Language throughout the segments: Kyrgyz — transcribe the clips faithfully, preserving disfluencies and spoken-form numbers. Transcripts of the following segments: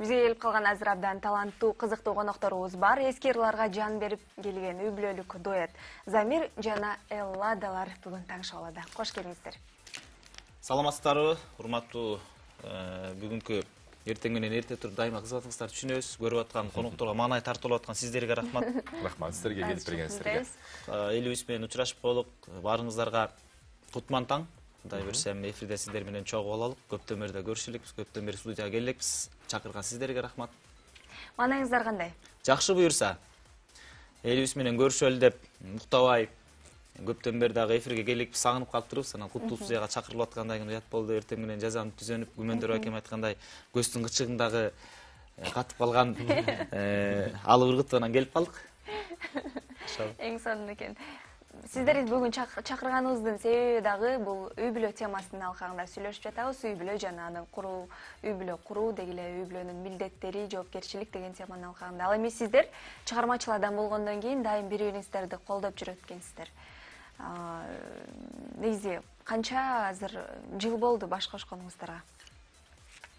Бизге келип калган азыр абдан таланттуу, кызыктуу конокторубуз бар. Эски ырларга жан берип келген үй бүлөлүк дуэт Замир жана Элладалар бүгүн таңышып алады. Кош келиңиздер. Саламатсыздарбы, урматтуу бүгүнкү эртең менен эрте туруп дайыма кызматыңыздарды түшүнөбүз. Көрүп аткан конокторго маанай тартылып аткан сиздерге рахмат. Рахмат сиздерге келип бергениңиздерге. Элибиз менен учурашып болуп, баарыңыздарга кутман таң. Кудай берсем эфирде сиздер менен чогуу бололук. Көптөн бери да көрүшүлүкбүз, көптөн бери студияга келелекпиз. Чакырган сиздерге рахмат. Маанайыңыздар кандай? Жакшы буюрса. Элибиз менен көрүшөлү деп уктабай көптөн бери дагы эфирге келелекпиз, сагынып калыптырбыз. Анан куттуу студияга чакырылып аткандай уят болду. Эртең менен жазанып түзөнүп, Гүмөндөр акем айткандай, көздүн кычыгындагы катып калган алып ыргытып келип калдык. Эң сонун экен. Сиздерди бүгүн чакырганыбыздын себеби дагы бул үй бүлө темасынын алкагында сүйлөшүп жатабыз. Үй бүлө жана аны куруу, үй бүлө куруу деги эле үй бүлөнүн милдеттери, жоопкерчилик деген теманын алкагында. Ал эми сиздер чыгармачыл адам болгондон кийин дайым бири-бириңиздерди колдоп жүрөт экенсиздер. Негизи канча азыр жыл болду баш кошконуңуздарга?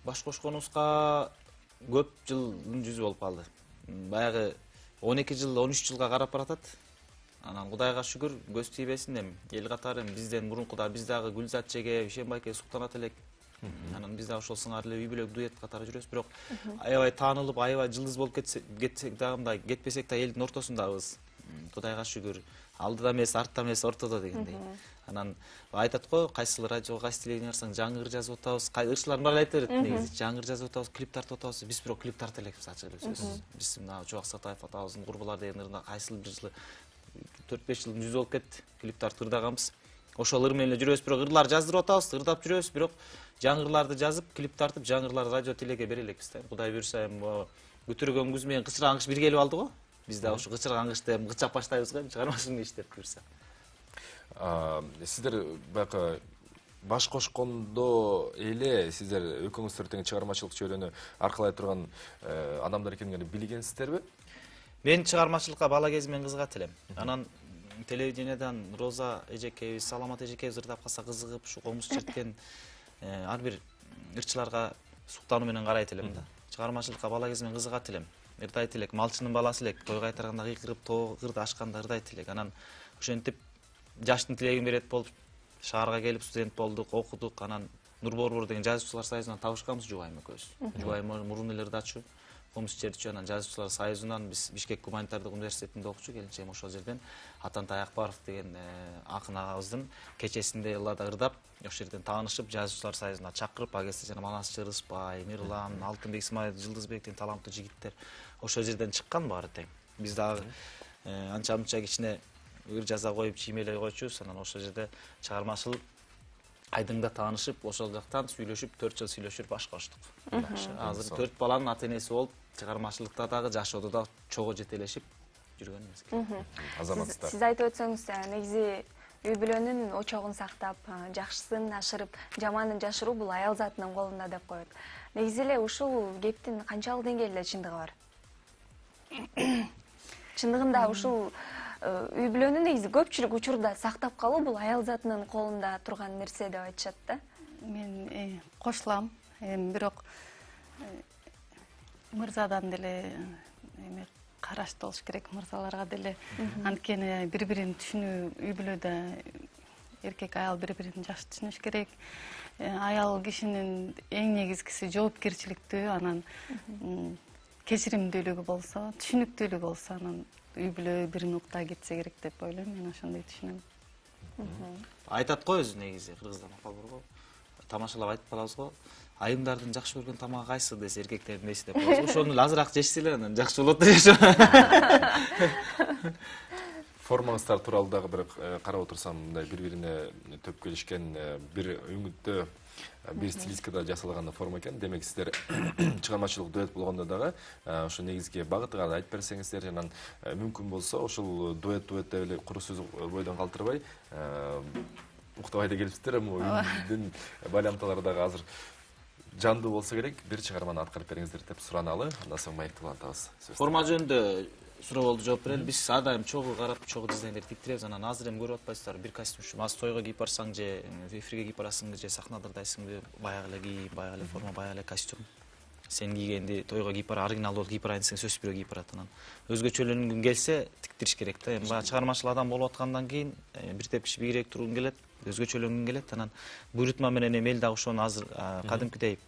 Баш кошконубузга көп жылдын жүзү болуп калды. Баягы он эки жыл, он үч жылга карап баратат. Анан Кудайга шүгүр, көз тийбесин эми эл катары бизден мурункуда биз дагы Гүлзат эже, Ишенбай эке суктанат элек. Анан биз дагы ошол сыңар эле үй бүлө дуэт катары жүрөбүз, бирок аябай таанылып, аябай жылдыз болуп кетсек дагы мындай кетпесек да элдин ортосундабыз. Кудайга шүгүр. Алдыда эмес, артта эмес, ортодо дегендей. Анан айтат го, кайсыл радиого, кайсы телевидение барсаң жаңы ыр жазып атабыз. Кайсылар баары айтып берет негизи. Жаңы ыр жазып атабыз, клип тартып атабыз. Биз бирок клип тарта элекпиз, ачык эле сөзсүз. Биз мына Жубак Сатаев атабыздын Курбулар деген ырында кайсыл бир жылы төрт беш жылдын жүзү болуп кетти. Клип тартып ырдаганбыз. Ошол ыр менен эле жүрөбүз, бирок ырлар жаздырып атабыз, ырдап жүрөбүз, бирок жаңы ырларды жазып, клип тартып, жаңы ырларды радио телеге бере элекпиз да. Кудай буюрса эми көтөргөн күз менен кычыр аңгыш бир келип алды го. Биз да ошо кычыр аңгышты эми кычап баштайбыз го, чыгармачылык иштеп буюрса. Сиздер баягы баш кошкондо эле сиздер экөөңүздөр тең чыгармачылык чөйрөнү аркылай турган адамдар экендигин билгенсиздерби? Мен чыгармачылыкка бала кезимден кызыгат элем. Анан телевидениеден Роза эжекебиз, Саламат эжекебиз ырдап калса кызыгып, ушу комуз черткен ар бир ырчыларга суктануу менен карайт элем да. Чыгармачылыкка бала кезимден кызыгат элем. Ырдайт элек, малчынын баласы элек, той кайтарганда кыйкырып, тоо кырды ашканда ырдайт элек. Анан ошентип жаштын тилегин берет болуп шаарга келип студент болдук, окудук. Анан Нур Борбор деген жазуучулар союзунан табышканбыз Жубайым экөөбүз. Жубайым мурун эле ырдачу, комуз чертчү. Анан жазуучулар союзунан биз Бишкек гуманитардык университетинде окучу, келинчегим ошол жерден Атантай Акбаров деген акын агабыздын кечесинде Эллада ырдап, ошол жерден таанышып, жазуучулар союзуна чакырып, агеси жана Манасчы Рыспай, Мирлан, Алтынбек Исмаил, Жылдызбек деген таланттуу жигиттер ошол жерден чыккан баары тең. Биз дагы анча-мынча кичине ыр жаза коюп, чиймелей койчубуз. Анан ошол жерде чыгармачыл айдыңда таанышып, ошол жактан сүйлөшүп, төрт жыл сүйлөшүп баш коштук. Азыр төрт баланын ата энеси болуп, чыгармачылыкта дагы, жашоодо да чогуу жетелешип жүргөнбүз. Азаматсыздар. Сиз айтып өтсөңүз, негизи үй бүлөнүн очогун сактап, жакшысын ашырып, жаманын жашыруу бул аял затынын колунда деп коет. Негизи эле ушул кептин канчалык деңгээлде чындыгы бар? Чындыгында ушул үй бүлөнү негизи көпчүлүк учурда сактап калуу бул аял затынын колунда турган нерсе деп айтышат да. Мен кошулам. Эми бирок мырзадан деле эме караштуу болуш керек, мырзаларга деле. Анткени бири-бирин түшүнүү, үй бүлөдө эркек аял бири-бирин жакшы түшүнүш керек. Аял кишинин эң негизгиси жоопкерчиликтүү, анан кечиримдүүлүгү болсо, түшүнүктүүлүгү болсо, анан үй бүлө бир нукта кетсе керек деп ойлойм. Мен ошондой түшүнөм. Айтат го өзү негизи кыргызда макал бар го. Тамашалап айтып калабыз го. Айымдардын жакшы көргөн тамагы кайсы десе эркектердин эси деп коебуз. Ошону эле азыраак жешсе эле анан жакшы болот деп жашоо. Формаңыздар тууралуу дагы бир карап отурсам, мындай бири-бирине төп келишкен бир үңүттө, бир стилистикада жасалган форма экен. Демек сиздер чыгармачылык дуэт болгондо дагы ошо негизги багытыга айтып берсеңиздер, жана мүмкүн болсо ошол дуэт дуэт деп эле куру сөз бойдон калтырбай, уктабай да келипсиздер, эми үйдүн байланталары дагы азыр жандуу болсо керек, бир чыгарманы аткарып бериңиздер деп сураналы. Андан соң маекти улантабыз. Форма жөнүндө суроолду жооп берели. Биз ар дайым чогуу карап, чогуу дизайндер тиктиребиз. Анан азыр эми көрүп атпайсыздарбы, бир костюм аз тойго кийип барсаң же эфирге кийип барасыңбы же сахнада ырдайсыңбы, баягы эле кийим, баягы эле форма, баягы эле костюм. сен кийгенди тойго кийип бара, оригинал болуп кийип барайын десең сөзсүз бирөө кийип барат. Анан өзгөчөлөнгүң келсе тиктириш керек да. Эми баягы чыгармачыл адам болуп аткандан кийин бир тепкич бийигирээк тургуң келет, өзгөчөлөнгүң келет. Анан буйрутма менен эми эл дагы ошону азыр кадимкидей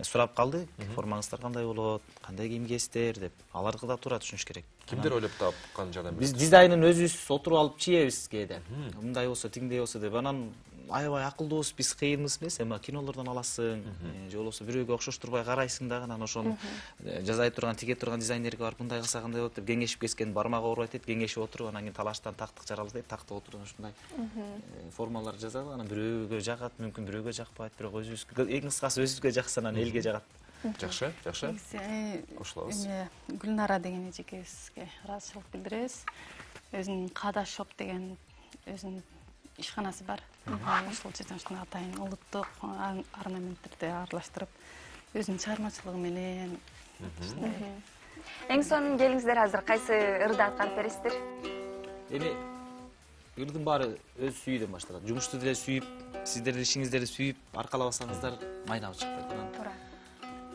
сурап калды. Формаңыздар кандай болот, кандай кийим кийесиздер деп. Аларды да туура түшүнүш керек. Кимдер ойлоп тапкан жана биз дизайнын өзүбүз отуруп алып чийебиз кээде. Мындай болсо, тиңдей болсо деп. Анан аябай акылдуубуз, биз кыйынбыз эмес, эми кинолордон аласың, же болбосо бирөөгө окшоштурбай карайсың дагы, анан ошону жасай турган, тиге турган дизайнерге барып мындай кылса кандай болот деп кеңешип кескен бармак оорубайт дейт, кеңешип отуруп, анан кийин талаштан тактык жаралды дейт, тактык отуруп ушундай формалар жасадык. Анан бирөөгө жагат, мүмкүн бирөөгө жакпайт, бирок өзүбүзгө, эң кыскасы өзүбүзгө жакса анан элге жагат. Жакшы, жакшы. Кошулабыз. Эме Гүлнара деген эжекебизге ыраазычылык билдиребиз. Өзүнүн Када шоп деген өзүнүн ишканасы бар. Ошол жерден ушундай атайын улуттук орнаменттерди аралаштырып, өзүнүн чыгармачылыгы менен. Эң сонун келиңиздер азыр кайсы ырды аткарып бересиздер? Эми ырдын баары өз сүйүүдөн башталат. Жумушту деле сүйүп, сиздердин ишиңиздерди сүйүп аркалабасаңыздар майнап чыкпайт. Туура.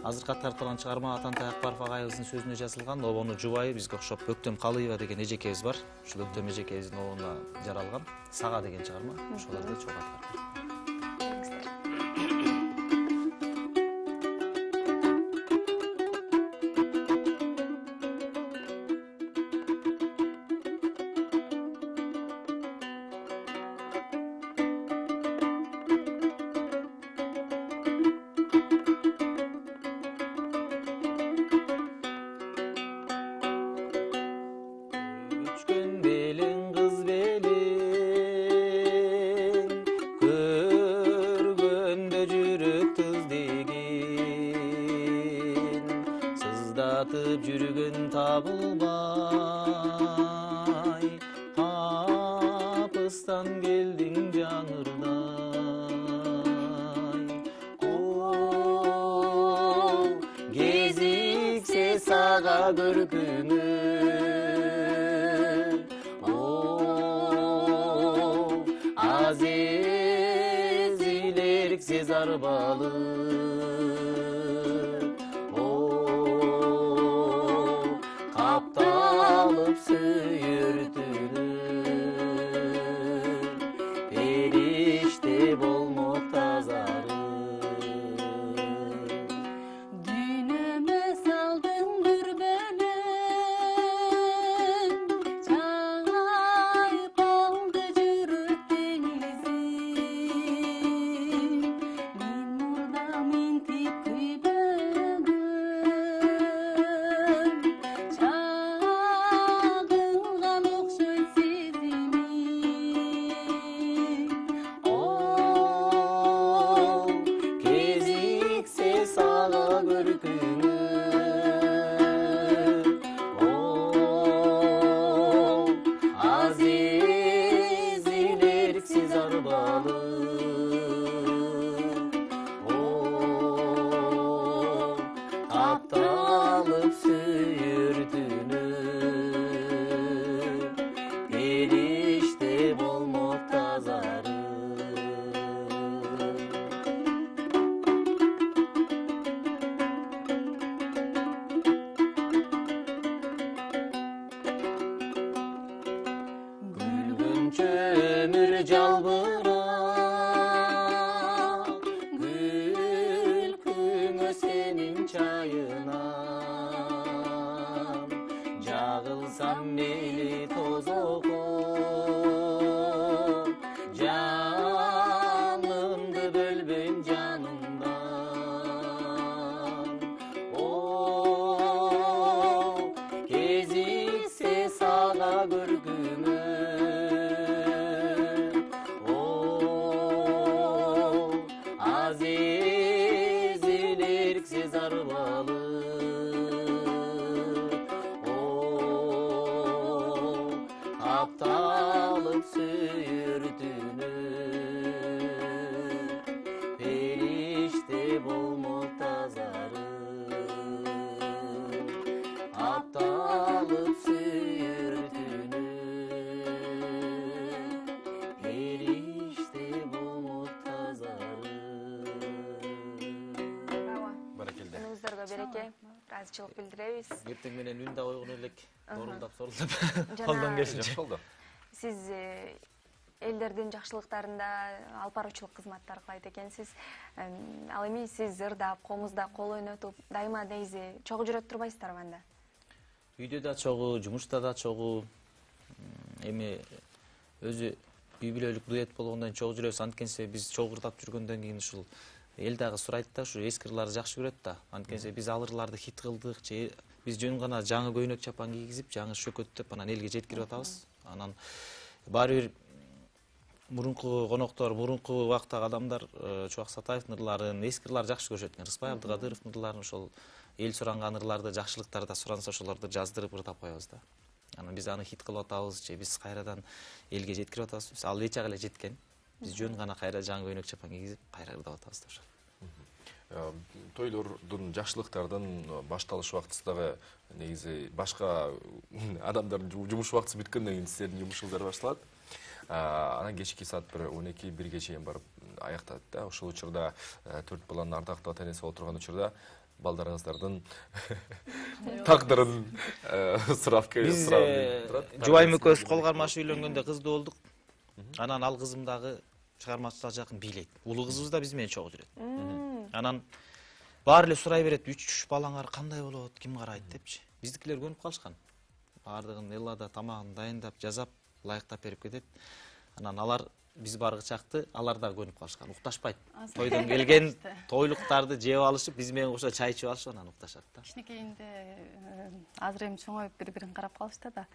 Азыркы аткарып чыгарма Атантай Акбаров агайыбыздын сөзүнө жазылган, обону жубайы бизге окшоп Өктөм Калыева деген эжекебиз бар. Ушул Өктөм эжекебиздин обону жаралган Сага деген чыгарма. Ошолорду чогуу аткарып. Жүргөн табылбай, капыстан келдиң жаңырдай. О, кезиксе сага көркүңө, о, азиз илерксиз арбалы. Капталып сүйүртүлүп, периште болмок тазарып. Дүйнөмө салдың дүрбөлөң, чайып алды жүрөк деңизин. Мен мурда минтип күйбөгөн, чагылган окшойт сезимим. О, кезиксе сага көркүңө, о, азиз илерксиз арбалы. О, капталып сүйүртүлүп, периште болмок тазарып. Күлгүнчө өмүр жалбырап, күлкүңө сенин чайынан, жагылсам мейли тозокко, жанымды бөлбөйм жанымдан. О, кезиксе сага көркүңө, о, азиз илерксиз арбалы. О, ыраазычылык билдиребиз. Эртең менен үн да койгон элек, дорулдап, сорулдап, колдон келишинче. Жакшы болду. Сиз элдердин жакшылыктарында алып баруучулук кызматтар кылайт экенсиз. Ал эми сиз ырдап, комузда кол ойнотуп, дайыма негизи чогуу жүрөт турбайсыздарбы анда? Үйдө да чогуу, жумушта да чогуу. Эми өзү үй бүлөлүк дуэт болгондон кийин чогуу жүрөбүз. Анткенсе биз чогуу ырдап жүргөндөн кийин ушул эл дагы сурайт да, ушу эски ырларды жакшы көрөт да. Анткенсе биз ал ырларды хит кылдык, же биз жөн гана жаңы көйнөк чапан кийгизип, жаңы шөкөттөп анан элге жеткирип атабыз. Анан баары бир мурунку коноктор, мурунку убактагы адамдар Чубак Сатаевдин ырларын, эски ырларды жакшы көрүшөт экен. Рыспай Абдыкадыровдун ырларын, ошол эл суранган ырларды, жакшылыктарды суранса ошолорду жаздырып ырдап коебуз да. Анан биз аны хит кылып атабыз, же биз кайрадан элге жеткирип атабыз. Ал эч жагы эле жеткен. Биз жөн гана кайра жаңы көйнөк чапан кийгизип, кайра ырдап атабыз да ошол. Тойлордун, жакшылыктардын башталыш убактысы дагы негизи башка адамдардын жумуш убактысы бүткөндөн кийин сиздердин жумушуңуздар башталат. Анан кечки саат бир он эки бирге чейин барып аяктат да. Ошол учурда төрт баланын ардактуу ата энеси болуп турган учурда балдарыңыздардын тагдырын сурап Биз Жубайым экөөбүз кол кармашып үйлөнгөндө кыздуу болдук. Анан ал кызым дагы чыгармачылыкка жакын бийлейт. Улуу кызыбыз да биз менен чогуу жүрөт. Анан баары эле сурай берет, үч балаңар кандай болот, ким карайт депчи. Биздикилер көнүп калышкан. Баардыгын эллада тамагын дайындап, жазап, ылайыктап берип кетет. Анан алар биз баргычакты, алар да көнүп калышкан. Укташпайт. Тойдон келген тойлуктарды жеп алышып, биз менен кошо чай ичип алышып анан укташат да. Кичинекейинде азыр эми чоңоюп бири-бирин карап калышты да.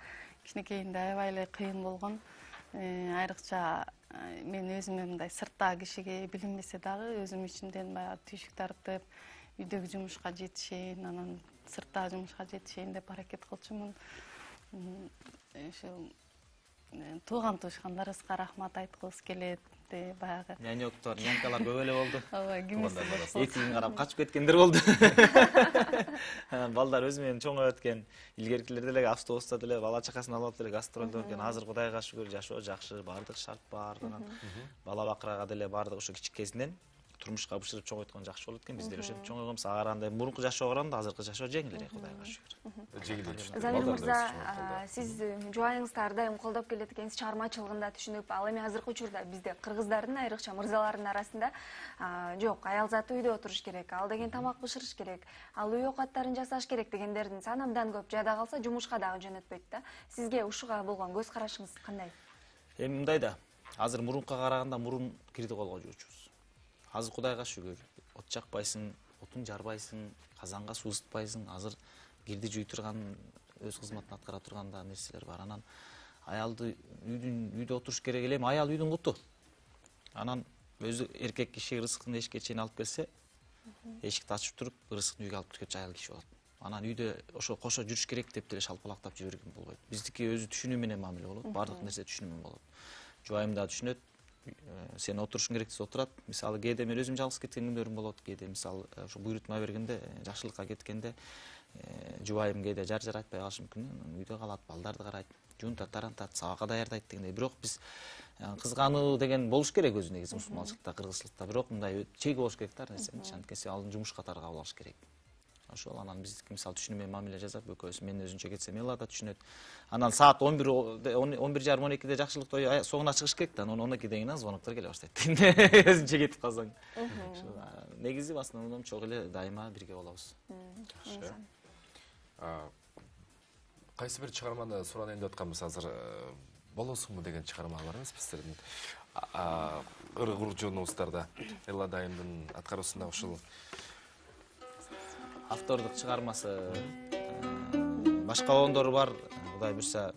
Кичинекейинде аябай эле кыйын болгон. Айрыкча мен өзүмө мындай сырттагы кишиге билинбесе дагы өзүм ичимден баягы түйшүк тартып, үйдөгү жумушка жетишейин, анан сырттагы жумушка жетишейин деп аракет кылчумун. Ошол тууган туушкандарыбызга рахмат айткыбыз келет. Баягы нянёктор, нянкалар көп эле болду. Ооба, кимиси этигин карап качып кеткендер болду. Балдар өзү менен чоңоюп өткөн. Илгеркилер деле автобуста деле бала чакасын алып деле гастролдо өткөн. Азыр Кудайга шүгүр жашоо жакшы, баардык шарт бар. Бала бакырага деле баардык ошо кичикесинен турмушка бышырып чоңойткон жакшы болот экен. Биздер ошентип чоңойгонбуз. Ага андай мурунку жашоого караганда азыркы жашоо жеңил эле, Кудайга шүгүр. Жеңил. Замир мырза, сиз жубайыңызды ар дайым колдоп келет экенсиз, чыгармачылыгында түшүнүп, ал эми азыркы учурда бизде кыргыздардын айрыкча мырзалардын арасында жок, аял заты үйдө отуруш керек, ал деген тамак бышырыш керек, ал үй оокаттарын жасаш керек дегендердин санамдан көп, жада калса жумушка дагы жөнөтпөйт да. Сизге ушуга болгон көз карашыңыз кандай? Эми мындай да, азыр мурунка караганда мурун кирди колго жуучубуз. Азыр Кудайга шүгүр, от жакпайсың, отун жарбайсың, казанга суу ысытпайсың. Азыр кирди жуй турган, өз кызматын аткара турган да нерселер бар. Анан аялды үйдүн үйдө отуруш керек эле, аял үйдүн куту. Анан өзү эркек киши ырыскын эшикке чейин алып келсе, эшикти ачып туруп, ырыскын үйгө алып киргенче аял киши болот. Анан үйдө ошо кошо жүрүш керек деп деле шалпалактап жибергенге болбойт. Биздики өзү түшүнүү менен мамиле болот, баардык нерсе түшүнүү менен болот. Жубайым да түшүнөт. Сен отурушуң керек десе отурат. Мисалы кээде мен өзүм жалгыз кеткен күндөрүм болот. Кээде мисалы ошо буйрутма бергенде, жакшылыкка кеткенде жубайым кээде жар жар айтпай калышы мүмкүн. Үйдө калат, балдарды карайт, жуунтат, тарантат, сабакка даярдайт дегендей. Бирок биз кызгануу деген болуш керек өзү негизи мусулманчылыкта, кыргызчылыкта. Бирок мындай чеги болуш керек да нерсенин. Анткенсе ал жумуш катары кабыл алыш керек. Ошол анан биздики мисалы түшүнүү менен мамиле жасап, экөөбүз мен өзүнчө кетсем Элла да түшүнөт. Анан саат он бир он бир жарым он экиде жакшылык тою соңуна чыгыш керек да, анан он экиден кийин звоноктор келе баштайт. Өзүнчө кетип калсаң. Негизи в основном чогуу эле дайыма бирге болобуз. Жакшы. Кайсы бир чыгарманы суранайын деп атканбыз азыр, болосуңбу деген чыгарма бар эмеспи сиздердин? Ыргуржунубуздарда Элла дайымдын аткаруусунда ушул автордук чыгармасы башка оондору бар. Кудай буйрса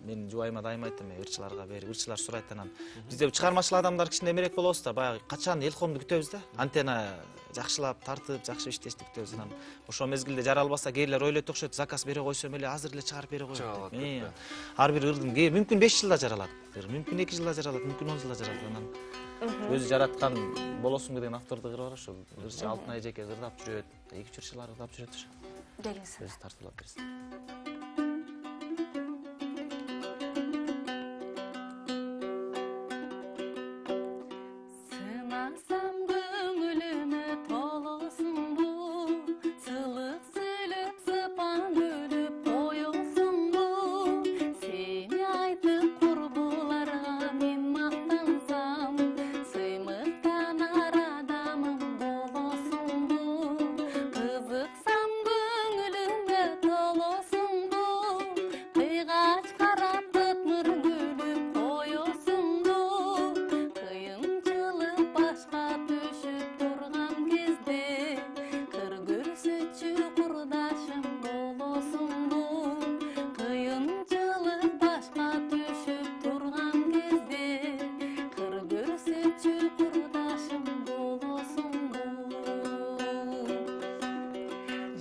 мен жубайыма дайыма айтам, ырчыларга берип, ырчылар сурайт анан. Бизде чыгармачыл адамдар кичине эмерээк болобуз да, баягы качан элкомду күтөбүз да. Антена жакшылап, тартып, жакшы иштешти күтөбүз анан. Ошол мезгилде жаралбаса, кээрлер ойлойт окшойт, заказ бере койсом эле азыр эле чыгарып бере коет деп. Ар бир ырдын мүмкүн беш жылда жаралат, мүмкүн эки жылда жаралат, мүмкүн он жылда жаралат анан. Өзү жараткан болосуңбу деген автордук ыры бар ошол. Ырчы Алтынай эжеке ырдап жүрөт, эки үч ырчылар ырдап жүрөт ошо. Келиңиз. Өзү тартуулап берсин. Сынасам көңүлүмө толосуңбу, сылык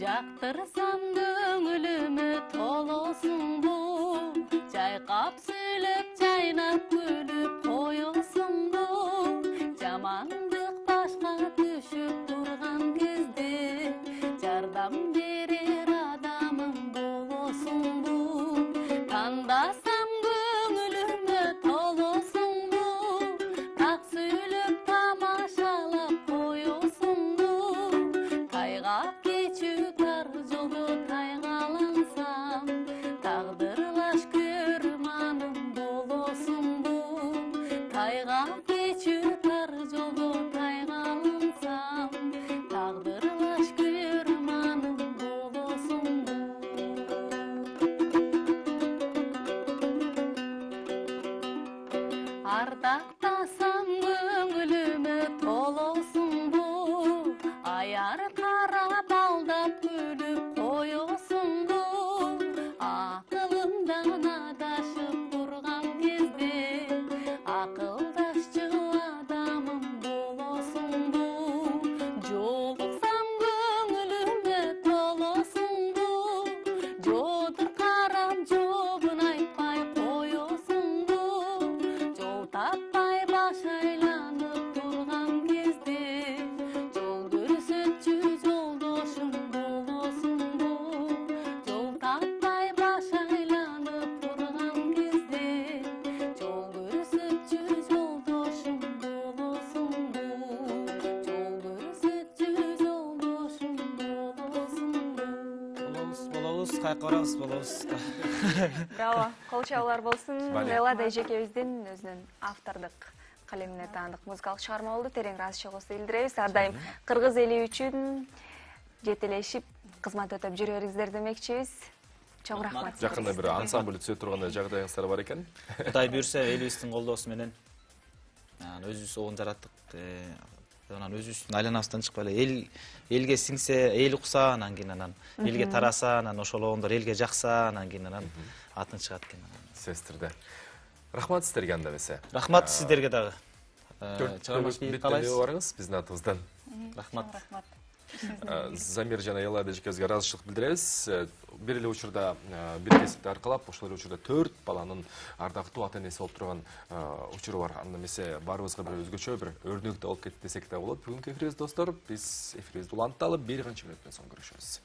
жактырсам көңүлүмө толосуңбу жайкап сүйлөп жайнап күлүп коесуңбу жамандык башка түшүп турган кезде жардам берер адамым болосуңбу тандасам көңүлүмө толосуңбу так сүйлөп тамашалап коесуңбу тайгап кечүү тар жолдо тайгалансам тагдырлаш көрманым болосуңбу тайгап кечүү тар жолдо тайгалансам тагдырлаш көрманым болосуңбу ардактасам көңүлүмө толосуңбу аяр карап алдап күлүп коесуңбу акылымдан адашып турган кезде акылдашчу адамым болосуңбу жолуксам көңүлүмө толосуңбу жодур карап жообун айтпай коесуңбу жол таппай баш айланып турган кезде жол көрсөтчү жолдошум болосуңбу жол таппай баш айланып турган кезде жол көрсөтчү жолдошум болосуңбу жол көрсөтчү жолдошум болосуңбу болобуз болобуз кайка барабыз болобуз. Браво. Кол чабуулар болсун. Бале. Элада эжекебиздин өзүнүн автордук калемине таандык музыкалык чыгарма болду. Терең ыраазычылыгыбызды билдиребиз. Ар дайым кыргыз эли үчүн жетелешип кызмат өтөп жүрө бериңиздер демекчибиз. Чоң рахмат. Жакында бир ансамбль түзө тургандай жагдайыңыздар бар экен. Кудай буйрса элибиздин колдоосу менен анан өзүбүз обун жараттык. э, Анан өзүбүздүн айланабыздан чыкпай эле эл элге сиңсе, эл укса, анан кийин анан элге тараса, анан ошол обундор элге жакса, анан кийин анан атын чыгат экен. Сестерде. Рахмат сиздерге анда эмесе. Рахмат сиздерге дагы. Чыгармачы Чыгармачы калайсыз? Барыңыз биздин атыбыздан. Рахмат. Рахмат. Замир жана Элада эжекебизге ыраазычылык билдиребиз. Бир эле учурда бир кесипти аркалап, ошол эле учурда төрт баланын ардактуу ата энеси болуп турган учуру бар. Анда эмесе баарыбызга бир өзгөчө бир өрнөк да болуп кетти десек да болот. Бүгүнкү эфирибиз достор, биз эфирибизди улантталып бир канча мүнөттөн соң көрүшөбүз.